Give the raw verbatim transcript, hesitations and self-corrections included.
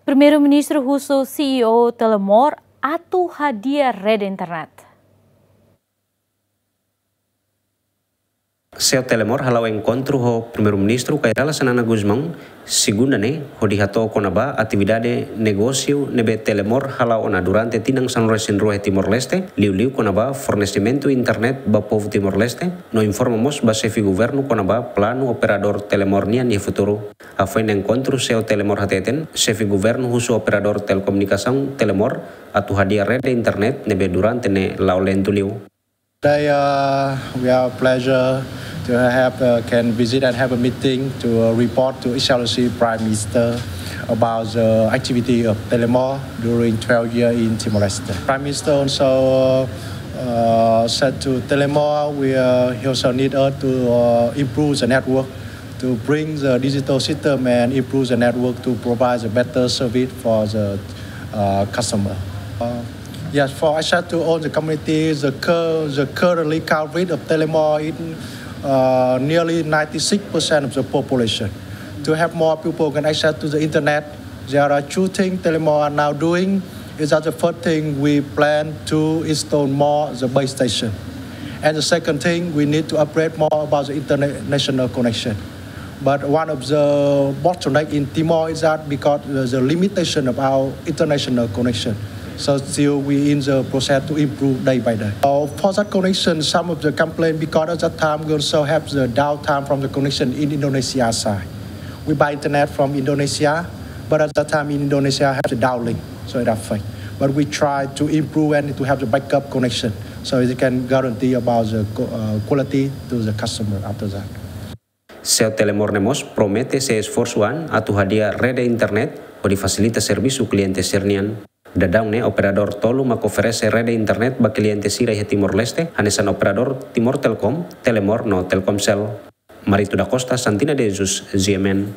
Primeiru-Ministru husu C E O Telemor atu hadi'a rede internet. C E O Telemor hala'o enkontru ho Primeiru-Ministru Kay Rala Xanana Gusmão, segunda ne'e, hodi hato'o kona-ba atividade negósiu ne'ebé Telemor hala'o ona durante tinan sanulu-resin-rua iha Timor-Leste, liuliu kona-ba fornesimentu internet ba povu Timor-Leste, no informa mós ba xefe governu kona-ba planu operadór Telemor nian iha futuru. Hafoin enkontru, C E O Telemor hateten, xefe governu husu operadór telekomunikasaun Telemor atu hadi'a rede internet ne'ebé durante ne'e la'o lentu liu. Today, uh, we have a pleasure to have, uh, can visit and have a meeting to, uh, report to His Excellency Prime Minister about the activity of Telemor during twelve years in Timor-Leste. Prime Minister also, uh, said to Telemor, we, uh, he also need us to, uh, improve the network, to bring the digital system and improve the network to provide a better service for the, uh, customer. Uh, yes, for access to all the community, the cur-, the currently coverage of Telemor is, uh, nearly ninety-six percent of the population. To have more people can access to the internet, there are two things Telemor are now doing. Is that the first thing, we plan to install more the base station. And the second thing, we need to upgrade more about the international connection. But one of the bottleneck in Timor is that because the, the limitation of our international connection. So still we in the process to improve day by day. Uh, for that connection, some of the complaint because at that time we also have the downtime from the connection in Indonesia side. We buy internet from Indonesia, but at that time in Indonesia have the downlink, so it affect. But we try to improve and to have the backup connection, so it can guarantee about the co-, uh, quality to the customer after that. C E O Telemor ne'e mós promete sei esforsu an atu hadi'a rede internet hodi fasilita servisu kliente sira-nian. Daudaun ne'e operadór tolu mak oferese rede internet ba kliente sira iha Timor-Leste, hanesan operadór Timor Telecom, Telemor no Telkomsel. Marito da Costa, Santina de Jesus, G M N.